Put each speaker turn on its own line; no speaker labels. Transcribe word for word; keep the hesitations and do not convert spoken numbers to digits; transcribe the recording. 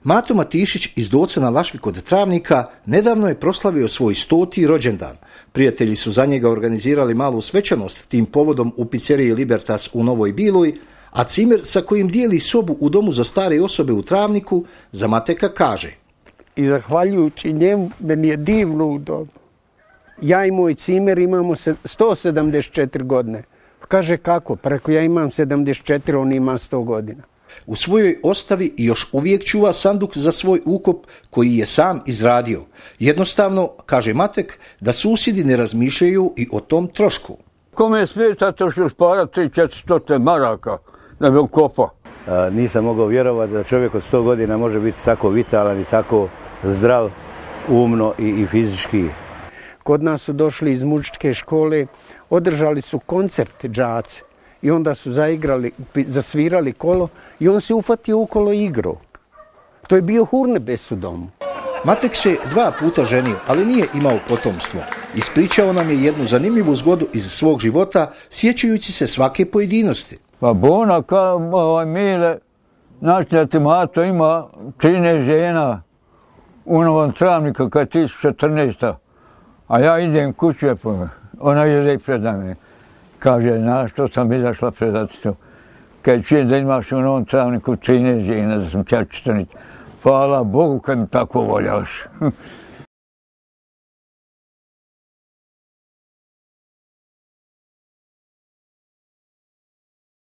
Mato Matišić iz Docana Lašvi kod Travnika nedavno je proslavio svoj stoti rođendan. Prijatelji su za njega organizirali malu svečanost tim povodom u pizzeriji Libertas u Novoj Biloj, a cimer sa kojim dijeli sobu u domu za stare osobe u Travniku za Mateka kaže:
I zahvaljujući njemu, meni je divno u domu. Ja i moj cimer imamo sto sedamdeset četiri godine. Kaže kako? Preko ja imam sedamdeset četiri, on ima sto godina.
U svojoj ostavi još uvijek čuva sanduk za svoj ukop koji je sam izradio. Jednostavno, kaže Matek, da susjedi ne razmišljaju i o tom trošku.
Kome smeta to što spara tri četiristo maraka da bi ukopao?
Nisam mogao vjerovati da čovjek od sto godina može biti tako vitalan i tako zdrav, umno i, i fizički.
Kod nas su došli iz muzičke škole, održali su koncert džaci i onda su zaigrali, zasvirali kolo i on se ufatio u kolo i igrao. To je bio Hurnebes u domu.
Matek se dva puta ženio, ali nije imao potomstvo. Ispričao nam je jednu zanimljivu zgodu iz svog života, sjećajući se svake pojedinosti.
Pa bona kao ovaj Mile, znači da ti Mato ima trinaest žena u Novom Travniku kad je tisuća četrnaesta. A ja idem kuću, ona je preda me. Kaže, znaš što sam izašla predati to. Kad čujem da imaš u Novom Travniku trinaest žena, da sam ćačetanić. Hvala Bogu kad mi tako voljaš.